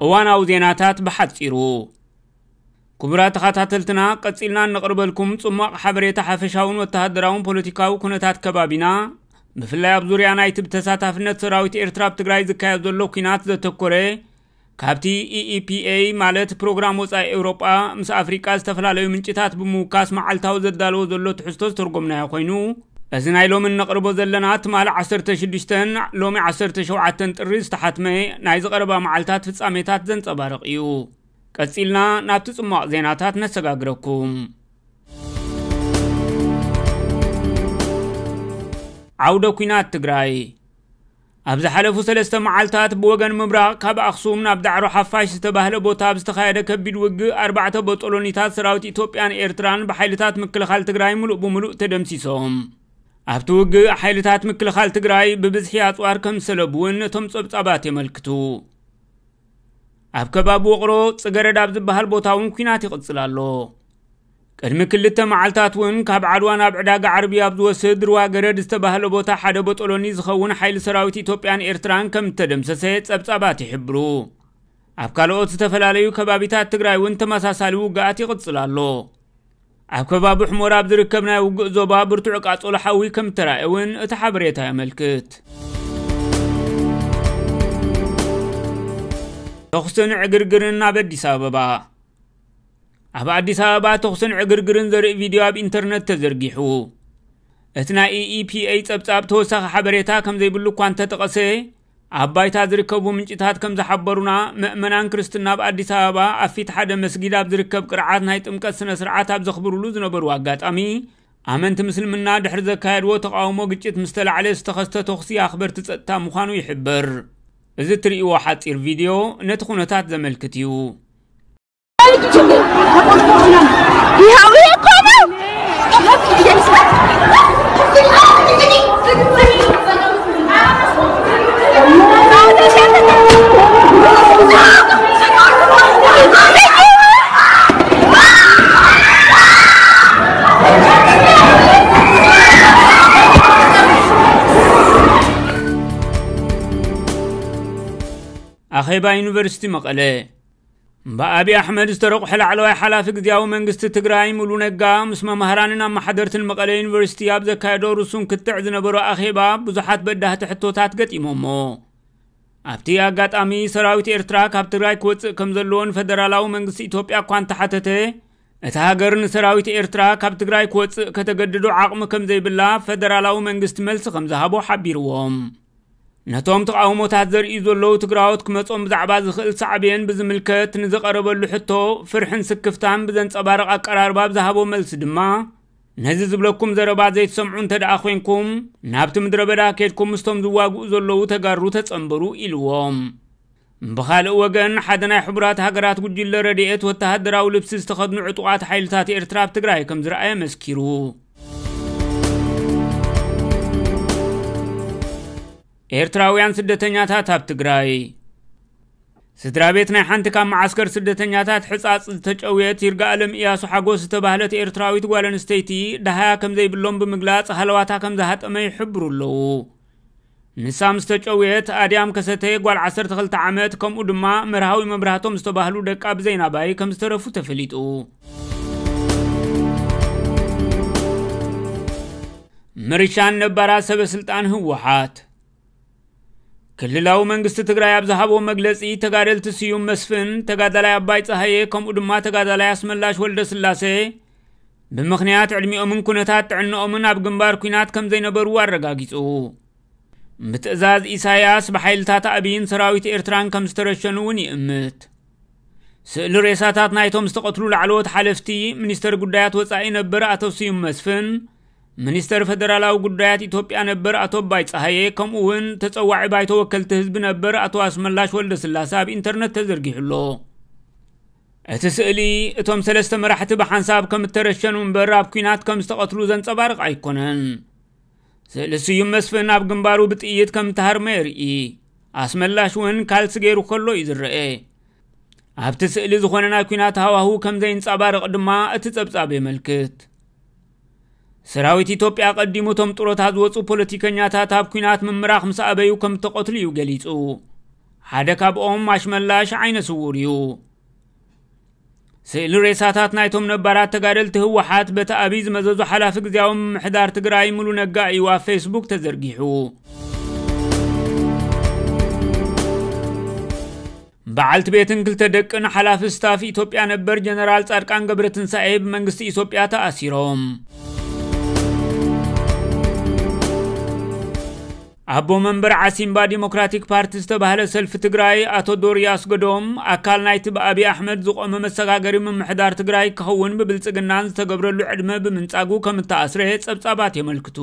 እዋናዊ ዜናታት ብሓጺሩ። ክቡራት ተኸታተልትና፣ ቀጺልና እነቕርበልኩም ጽሟቕ ሓበሬታ ሓፈሻውን ወተሃደራውን ፖለቲካዊ ኩነታት ከባቢና፣ ብፍላይ ኣብ ዙርያ ናይቲ ብተሳታፍነት ሰራዊት ኤርትራ ኣብ ትግራይ ዝካየድ ዘሎ ኲናት ዘተኮረ፣ ካብቲ E E P A ማለት ፕሮግራም ወጻኢ ኤውሮጳ ምስ ኣፍሪቃ ዝተፈላለዩ ምንጭታት ብምውካስ መዓልታዊ ዘዳለዎ ዘሎ ትሕዝቶ ዝተርጎምናዮ ኮይኑ፣ እዚ ናይ ሎሚ እነቕርቦ ዘለና ትማሊ ዓሰርተ ሽዱሽተ ሎሚ ዓሰርተ ሸውዓተ ጥሪ ዝተሓትመ ናይዚ ቀረባ መዓልታት ፍጻሜታት ዘንጸባርቕ እዩ። ቀጺልና ናብቲ ጽሟቕ ዜናታት ነሰጋግረኩም። ዓውደ ኲናት ትግራይ። ኣብ ዝሓለፉ ሰለስተ መዓልታት ብወገን ምብራቕ ካብ ኣኽሱም ናብ ዳዕሮ ሓፋሽ ዝተባህለ ቦታ ኣብ ዝተኻየደ ከቢድ ውግእ ኣርባዕተ ቦጦሎኒታት ሰራዊት ኢትዮጵያን ኤርትራን ብሓይልታት ምክልኻል ትግራይ ምሉእ ብምሉእ ተደምሲሶም። ኣብቲ ውግእ ሓይልታት ምክልኻል ትግራይ ብብዝሒ ኣጽዋር ከም ዝሰለቡ እውን እቶም ጸብጻባት የመልክቱ። ኣብ ከባቢ ውቕሮ ጽገረድ ኣብ ዝበሃል ቦታ እውን ኲናት ይቕጽል ኣሎ። ቅድሚ ክልተ መዓልታት እውን ካብ ዓድዋ ናብ ዕዳጋ ዓርቢ ኣብ ዝወስድ ሩዋ ገረድ ዝተባህለ ቦታ ሓደ ቦጦሎኒ ዝኸውን ሓይሊ ሰራዊት ኢትዮጵያን ኤርትራን ከም እተደምሰሰ ጸብጻባት ይሕብሩ። ኣብ ካልኦት ዝተፈላለዩ ከባቢታት ትግራይ እውን ተመሳሳሊ ውግኣት ይቕጽል ኣሎ። ኣብ ከባቢ ሑመራ ኣብ ዝርከብ ናይ ውግእ ዞባ ብርቱዕ ቃጸሎ ሓዊ ከም እተራእየ እውን እቲ ሓበሬታ የመልክት። ተኹስን ዕግርግርን ኣብ ኣዲስ ኣበባ። ኣብ ኣዲስ ኣበባ ተኹስን ዕግርግርን ዘርኢ ቪድዮ ኣብ ኢንተርነት ተዘርጊሑ። እቲ ናይ E E P A ጸብጻብ ተወሳኺ ሓበሬታ ከም ዘይብሉ እኳ እንተጠቐሰ፣ ኣብ ባይታ ዝርከቡ ምንጭታት ከም ዝሓበሩና፣ ምእመናን ክርስትና ኣብ ኣዲስ ኣበባ ኣብ ፊት ሓደ መስጊድ ኣብ ዝርከብ ቅርዓት ናይ ጥምቀት ስነ ስርዓት ኣብ ዘኽብሩሉ ዝነበሩ ኣጋጣሚ፣ ኣመንቲ ምስልምና ድሕሪ ዘካየድዎ ተቓውሞ ግጭት ምስ ተላዕለ ዝተኸስተ ተኹሲ ኣኽበርቲ ጸጥታ ምዃኑ ይሕበር። እዚ እትርእይዎ ሓጺር ቪድዮ ነቲ ኩነታት ዘመልክት እዩ። ይኸው ይሄ እኮ ነው። ኣኼባ ዩኒቨርሲቲ መቐለ። ብኣቢ ኣሕመድ ዝተረቑሐ ላዕለዋይ ሓላፊ ግዝያዊ መንግስቲ ትግራይ ሙሉ ነጋ ምስ መማህራንን ኣመሓደርትን መቐለ ዩኒቨርሲቲ ኣብ ዘካየዶ ርሱን ክትዕ ዝነበሮ ኣኼባ ብዙሓት በዳህቲ ሕቶታት ገጢሞሞ። ኣብቲ ኣጋጣሚ ሰራዊት ኤርትራ ካብ ትግራይ ክወጽእ ከም ዘለዎን ፈደራላዊ መንግስቲ ኢትዮጵያ እኳ እንተሓተተ፣ እታ ሃገር ንሰራዊት ኤርትራ ካብ ትግራይ ክወጽእ ከተገድዶ ዓቕሚ ከም ዘይብላ ፈደራላዊ መንግስቲ መልሲ ከም ዝሃቦ ሓቢርዎም። ነቶም ተቓውሞታት ዘርእዩ ዘለዉ ትግራዎት ክመጾም ብዛዕባ ዝኽእል ሳዕቤን ብዝምልከት ንዝቐረበሉ ሕቶ ፍርሕን ስክፍታን ብዘንጸባርቕ ኣቀራርባ ኣብ ዝሃቦ መልሲ ድማ፣ ነዚ ዝብለኩም ዘረባ ዘይትሰምዑ እንተ ደኣ ኮይንኩም፣ ናብቲ ምድረ በዳ ኬድኩም ምስቶም ዝዋግኡ ዘለዉ ተጋሩ ተጸንበሩ ኢልዎም። ብኻልእ ወገን፣ ሓደ ናይ ሕቡራት ሃገራት ጉጅለ ረድኤት ወተሃደራዊ ልብሲ ዝተኸድኑ ዕጡቓት ሓይልታት ኤርትራ ኣብ ትግራይ ከም ዝረኣየ መስኪሩ። ኤርትራውያን ስደተኛታት ኣብ ትግራይ። ስድራ ቤት ናይ ሓንቲ ካብ መዓስከር ስደተኛታት ሕጻጽ ዝተጨውየት ይርጋኣለም እያሱ ሓጎስ ዝተባህለት ኤርትራዊት ጓል ኣንስተይቲ ደሃያ ከም ዘይብሎም ብምግላጽ ሃለዋታ ከም ዝሃጠመ ይሕብሩ ኣለዉ። ንሳ ምስ ተጨውየት፣ ኣድያም ከሰተ ጓል ዓሰርተ ክልተ ዓመት፣ ከምኡ ድማ መርሃዊ መብራህቶም ዝተባህሉ ደቃ ብዘይናባይ ከም ዝተረፉ ተፈሊጡ። ምርሻን ነባራት ሰበ ስልጣን ህወሓት። ክልላዊ መንግስቲ ትግራይ ኣብ ዝሃቦ መግለጺ፣ ተጋደልቲ ስዩም መስፍን፣ ተጋዳላይ ኣባይ ጸሃየ፣ ከምኡ ድማ ተጋዳላይ ኣስመላሽ ወልደ ስላሴ፣ ብምኽንያት ዕድሚኦምን ኩነታት ጥዕንኦምን ኣብ ግንባር ኲናት ከም ዘይነበሩ ኣረጋጊጹ። ብትእዛዝ ኢሳያስ ብሓይልታት ኣቢይን ሰራዊት ኤርትራን ከም ዝተረሸኑ እውን ይእምት። ስእሊ ሬሳታት ናይቶም ዝተቐትሉ ላዕለዎት ሓለፍቲ፣ ሚኒስተር ጉዳያት ወጻኢ ነበር ኣቶ ስዩም መስፍን፣ ሚኒስተር ፈደራላዊ ጉዳያት ኢትዮጵያ ነበር ኣቶ ኣባይ ጸሃየ፣ ከምኡ እውን ተጸዋዒ ባይቶ ወከልቲ ህዝቢ ነበር ኣቶ ኣስመላሽ ወልደ ስላሴ ኣብ ኢንተርነት ተዘርጊሑ ኣሎ። እቲ ስእሊ፣ እቶም ሰለስተ መራሕቲ ብሓንሳብ ከም እተረሸኑ እምበር ኣብ ኲናት ከም ዝተቐትሉ ዘንጸባርቕ ኣይኮነን። ስእሊ ስዩም መስፍን ኣብ ግንባሩ ብጥይት ከም እተሃርመ የርኢ። ኣስመላሽ እውን ካልሲ ገይሩ ከሎ እዩ ዝረአ። ኣብቲ ስእሊ ዝኾነ ናይ ኲናት ሃዋህው ከም ዘይንጸባረቕ ድማ እቲ ጸብጻብ የመልክት። ሰራዊት ኢትዮጵያ ቀዲሙ እቶም ጥሮታ ዝወጹ ፖለቲከኛታት ኣብ ኲናት ምምራኽ ምስ ኣበዩ ከም እተቐትሉ እዩ ገሊጹ። ሓደ ካብኦም ኣሽመላሽ ዓይነ ስውር እዩ። ስእሊ ሬሳታት ናይቶም ነባራት ተጋደልቲ ህወሓት በቲ ኣብይ ዝመዘዙ ሓላፊ ግዜያዊ ምምሕዳር ትግራይ ሙሉ ነጋ እዩ ኣብ ፌስቡክ ተዘርጊሑ። በዓልቲ ቤትን ክልተ ደቅን ሓላፊ ስታፍ ኢትዮጵያ ነበር ጀነራል ጻድቃን ገብረትንሳኤ ብመንግስቲ ኢትዮጵያ ተኣሲሮም። ኣቦ መንበር ዓሲምባ ዲሞክራቲክ ፓርቲ ዝተባህለ ሰልፊ ትግራይ ኣቶ ዶሪ ኣስገዶም፣ ኣካል ናይቲ ብኣብይ ኣሕመድ ዝቖመ መሰጋገሪ ምምሕዳር ትግራይ ክኸውን ብብልጽግናን ዝተገብረሉ ዕድመ ብምንጻጉ ከም እተኣስረ ጸብጻባት የመልክቱ።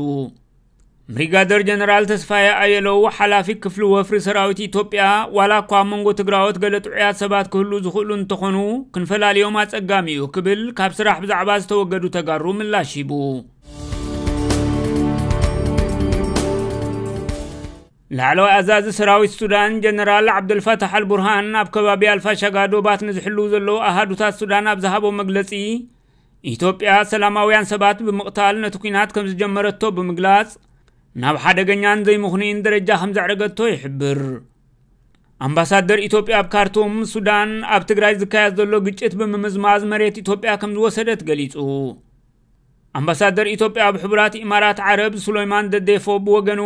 ብሪጋደር ጀነራል ተስፋየ ኣየለው፣ ሓላፊ ክፍሊ ወፍሪ ሰራዊት ኢትዮጵያ፣ ዋላ እኳ ኣብ መንጎ ትግራዎት ገለ ጥዑያት ሰባት ክህሉ ዝኽእሉ እንተኾኑ፣ ክንፈላልዮም ኣጸጋሚ እዩ ክብል ካብ ስራሕ ብዛዕባ ዝተወገዱ ተጋሩ ምላሽ ሂቡ። ላዕለዋይ ኣዛዚ ሰራዊት ሱዳን ጀነራል ዓብደልፋታሕ ኣልቡርሃን ኣብ ከባቢ ኣልፋሻጋ ዶባት ንዝሕልዉ ዘለዉ ኣሃዱታት ሱዳን ኣብ ዝሃቦ መግለጺ፣ ኢትዮጵያ ሰላማውያን ሰባት ብምቕታል ነቲ ኲናት ከም ዝጀመረቶ ብምግላጽ፣ ናብ ሓደገኛን ዘይምኽኑይን ደረጃ ከም ዘዕረገቶ ይሕብር። ኣምባሳደር ኢትዮጵያ ኣብ ካርቱም፣ ሱዳን ኣብ ትግራይ ዝካየድ ዘሎ ግጭት ብምምዝማዝ መሬት ኢትዮጵያ ከም ዝወሰደት ገሊጹ። ኣምባሳደር ኢትዮጵያ ኣብ ሕቡራት ኢማራት ዓረብ ሱለይማን ደዴፎ ብወገኑ፣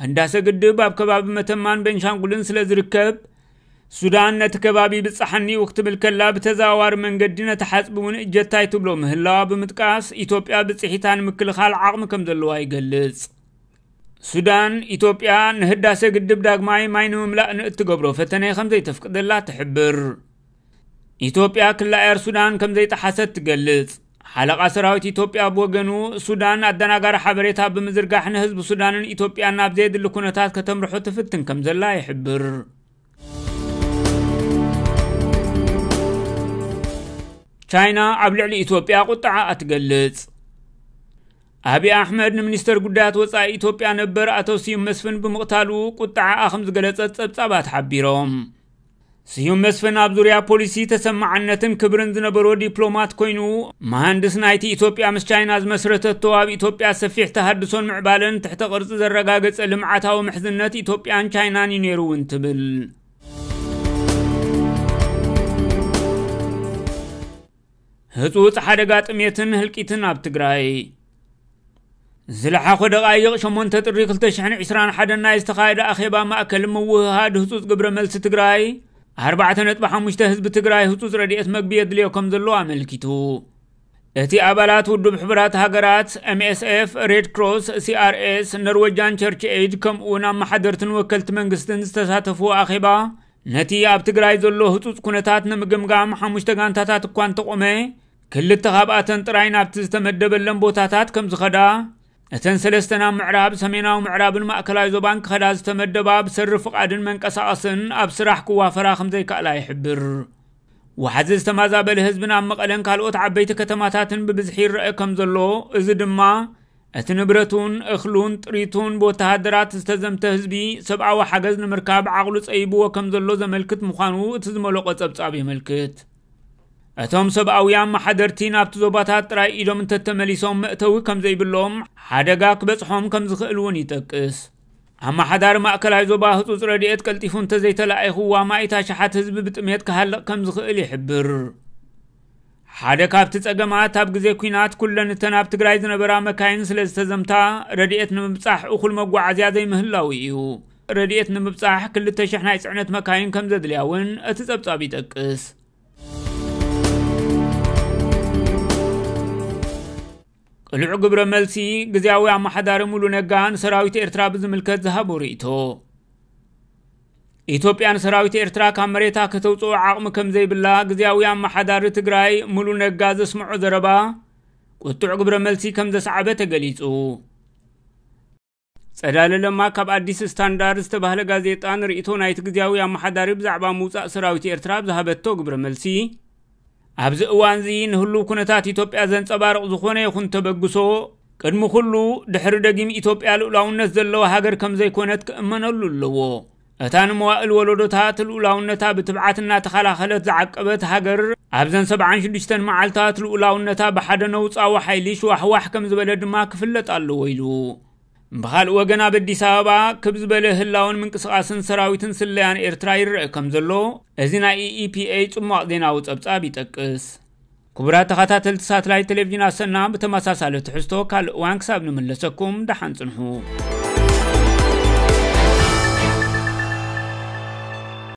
ህዳሰ ግድብ ኣብ ከባቢ መተማን ቤንሻንጉልን ስለ ዝርከብ፣ ሱዳን ነቲ ከባቢ ብጻሓኒ እዩ ክትብል ከላ፣ ብተዘዋዋሪ መንገዲ ነቲ ሓጽቢ እውን እጀታይ ትብሎ ምህላዋ ብምጥቃስ፣ ኢትዮጵያ ብጽሒታ ንምክልኻል ዓቕሚ ከም ዘለዋ ይገልጽ። ሱዳን፣ ኢትዮጵያ ንህዳሰ ግድብ ዳግማይ ማይ ንምምላእ ንእትገብሮ ፈተነ ከም ዘይተፍቅደላ ትሕብር። ኢትዮጵያ ክላ ኤር ሱዳን ከም ዘይጠሓሰት ትገልጽ። ሓለቓ ሰራዊት ኢትዮጵያ ብወገኑ፣ ሱዳን ኣደናጋሪ ሓበሬታ ብምዝርጋሕ ንህዝቢ ሱዳንን ኢትዮጵያን ናብ ዘየድሊ ኩነታት ከተምርሖ ትፍትን ከም ዘላ ይሕብር። ቻይና ኣብ ልዕሊ ኢትዮጵያ ቁጥዓኣ ትገልጽ። ኣብይ ኣሕመድ ንሚኒስተር ጉዳያት ወጻኢ ኢትዮጵያ ነበር ኣቶ ስዩም መስፍን ብምቕታሉ ቁጥዓኣ ከም ዝገለጸት ጸብጻባት ሓቢሮም። ስዩም መስፍን ኣብ ዙርያ ፖሊሲ ተሰማዓነትን ክብርን ዝነበሮ ዲፕሎማት ኮይኑ፣ መሃንድስ ናይቲ ኢትዮጵያ ምስ ቻይና ዝመስረተቶ ኣብ ኢትዮጵያ ሰፊሕ ተሃድሶን ምዕባለን ትሕተ ቅርጺ ዘረጋገጸ ልምዓታዊ ምሕዝነት ኢትዮጵያን ቻይናን እዩ ነይሩ እውን ትብል። ህጹጽ ሓደጋ ጥሜትን ህልቂትን ኣብ ትግራይ። ዝለሓኾ ደቓይቕ ሸሞንተ ጥሪ ክልተ ሽሕን ዕስራን ሓደን ናይ ዝተኻየደ ኣኼባ ማእከል ምውህሃድ ህጹጽ ግብረ መልሲ ትግራይ፣ ኣርባዕተ ነጥቢ ሓሙሽተ ህዝቢ ትግራይ ህጹጽ ረድኤት መግቢ የድልዮ ከም ዘሎ ኣመልኪቱ። እቲ ኣባላት ውድብ ሕቡራት ሃገራት፣ ኤም ኤስ ኤፍ፣ ሬድ ክሮስ፣ ሲ ኣር ኤስ፣ ኖርዌጃን ቸርች ኤይድ ከምኡ እውን ኣመሓደርትን ወከልቲ መንግስትን ዝተሳተፍዎ ኣኼባ፣ ነቲ ኣብ ትግራይ ዘሎ ህጹጽ ኩነታት ንምግምጋም ሓሙሽተ ጋንታታት እኳ እንተቖመ፣ ክልተ ካብኣተን ጥራይ ናብቲ ዝተመደበለን ቦታታት ከም ዝኸዳ፣ እተን ሰለስተ ናብ ምዕራብ፣ ሰሜናዊ ምዕራብን ማእከላይ ዞባን ክኸዳ ዝተመደባ ብሰሪ ፍቓድን መንቀሳቐስን ኣብ ስራሕ ክዋፈራ ከም ዘይከኣላ ይሕብር። ወሓዚ ዝተማዛበለ ህዝብን ኣብ መቐለን ካልኦት ዓበይቲ ከተማታትን ብብዝሒ ይረአ ከም ዘሎ፣ እዚ ድማ እቲ ንብረቱን እኽሉን ጥሪቱን ብወተሃደራት ዝተዘምተ ህዝቢ ሰብኣዊ ሓገዝ ንምርካብ ዓቕሉ ጸይብዎ ከም ዘሎ ዘመልክት ምዃኑ እቲ ዝመለቆ ጸብጻብ የመልክት። እቶም ሰብኣዊ ኣመሓደርቲ ናብቲ ዞባታት ጥራይ ኢዶም እንተተመሊሶም መእተዊ ከም ዘይብሎም፣ ሓደጋ ክበጽሖም ከም ዝኽእል እውን ይጠቅስ። ኣመሓዳሪ ማእከላይ ዞባ ህጹጽ ረድኤት ቀልጢፉ እንተዘይተላኢኹ፣ ኣማኢት ኣሽሓት ህዝቢ ብጥሜት ክሃልቕ ከም ዝኽእል ይሕብር። ሓደ ካብቲ ጸገማት፣ ኣብ ግዜ ኲናት ኩለን እተን ኣብ ትግራይ ዝነበራ መካይን ስለ ዝተዘምታ፣ ረድኤት ንምብጻሕ እኹል መጓዓዝያ ዘይምህላው እዩ። ረድኤት ንምብጻሕ ክልተ ሽሕ ናይ ጽዕነት መካይን ከም ዘድልያ እውን እቲ ጸብጻብ ይጠቅስ። ቅሉዕ ግብረ መልሲ፣ ግዝያዊ ኣመሓዳሪ ሙሉ ነጋ ንሰራዊት ኤርትራ ብዝምልከት ዝሃቦ ርእይቶ። ኢትዮጵያ ንሰራዊት ኤርትራ ካብ መሬታ ከተውፅኦ ዓቕሚ ከም ዘይብላ ግዝያዊ ኣመሓዳሪ ትግራይ ሙሉ ነጋ ዘስምዖ ዘረባ፣ ቁጡዕ ግብረ መልሲ ከም ዘስዓበ ተገሊጹ። ጸዳለ ለማ ካብ ኣዲስ ስታንዳርድ ዝተባህለ ጋዜጣ ንርእይቶ ናይቲ ግዝያዊ ኣመሓዳሪ ብዛዕባ ምውጻእ ሰራዊት ኤርትራ ኣብ ዝሃበቶ ግብረ መልሲ፣ ኣብዚ እዋንዚ ንህሉው ኩነታት ኢትዮጵያ ዘንጸባርቕ ዝኾነ ይኹን ተበግሶ፣ ቅድሚ ኩሉ ድሕሪ ደጊም ኢትዮጵያ ልኡላውነት ዘለዋ ሃገር ከም ዘይኮነት ክእመነሉ ኣለዎ። እታ ንመዋእል ወለዶታት ልኡላውነታ ብትብዓት እናተኸላኸለት ዝዓቀበት ሃገር፣ ኣብዘን ሰብዓን ሽዱሽተን መዓልታት ልኡላውነታ ብሓደ ነውጻዊ ሓይሊ ሽዋሕዋሕ ከም ዝበለ ድማ ክፍለጥ ኣለዎ ኢሉ። ብኻልእ ወገን ኣብ ኣዲስ ኣበባ ክብ ዝበለ ህላውን ምንቅስቓስን ሰራዊትን ስለያን ኤርትራ ይረአ ከም ዘሎ እዚ ናይ ኢኢፒኤ ጽሟቕ ዜናዊ ጸብጻብ ይጠቅስ። ክቡራት ተኸታተልቲ ሳትላይት ቴሌቪዥን ኣሰና፣ ብተመሳሳሊ ትሕዝቶ ካልእ እዋን ክሳብ ንምለሰኩም ደሓን ጽንሑ።